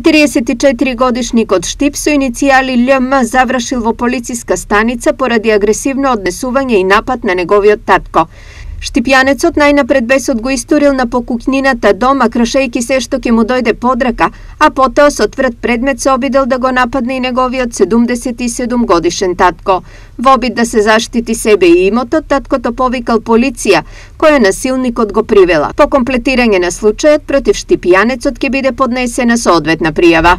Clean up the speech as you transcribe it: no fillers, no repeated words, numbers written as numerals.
44 годишникот Штип со иницијали љМ завршил во полициска станица поради агресивно однесување и напад на неговиот татко. Штипјанецот најнапред бесот го истурил на покукнината дома, кршејки се што ќе му дојде подрака, а потоа со тврд предмет се обидел да го нападне и неговиот 77 годишен татко. Во обид да се заштити себе и имотот, таткото повикал полиција, која насилникот го привела. По комплетирање на случајот против Штипјанецот ќе биде поднесена соодветна пријава.